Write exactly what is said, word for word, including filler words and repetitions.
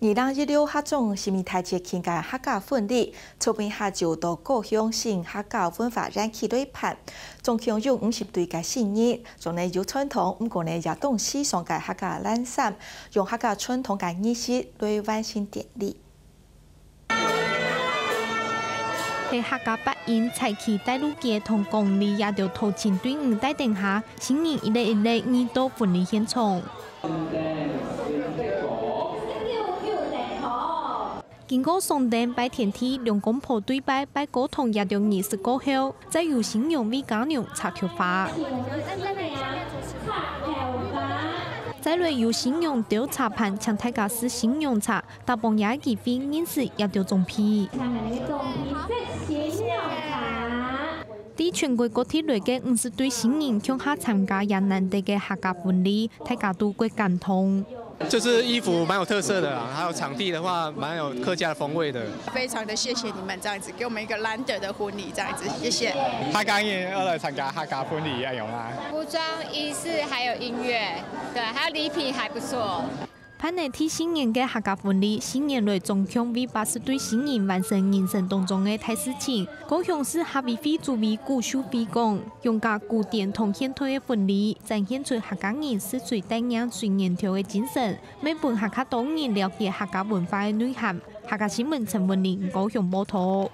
二零一六客庄新年大節慶个客家婚禮，昨晡下晝到高雄新客家文化園區舉辦，總共有五十對个新人，著呢有傳統，毋過呢也當時尚个客家藍衫，用客家傳統个儀式來完成典禮。 係客家八音、彩旗、帶路雞同廣里這兜頭前隊伍帶等下，新人一粒一粒移到婚禮現場。經過上燈、拜天地、兩公婆對拜、拜高堂這兜儀式過後，再由新娘為家娘插頭花。 再來由新娘兜茶盤，請大家試新娘茶，搭幫這个機會認識這兜長輩。在全國各地來个五十對新人共下參加這難得个客家婚禮，大家都蓋感動。就是衣服蠻有特色的啦，還有場地的話蠻有客家風味的。非常的謝謝你們這樣子，給我們一個難得的婚禮這樣子，謝謝。客家人愛來參加客家婚禮，恁樣啊。服裝、儀式還有音樂，對，還有禮品還不錯。辦了第四年个客家婚禮，四年來總共為八十對新人完成人生當中个大事情。高雄市客委會主委古秀妃講，用加古典同現代个婚禮，展現出客家人實在帶領水源頭个精神，乜分客家多人了解客家文化个內涵。客家新聞陳文玲高雄報導。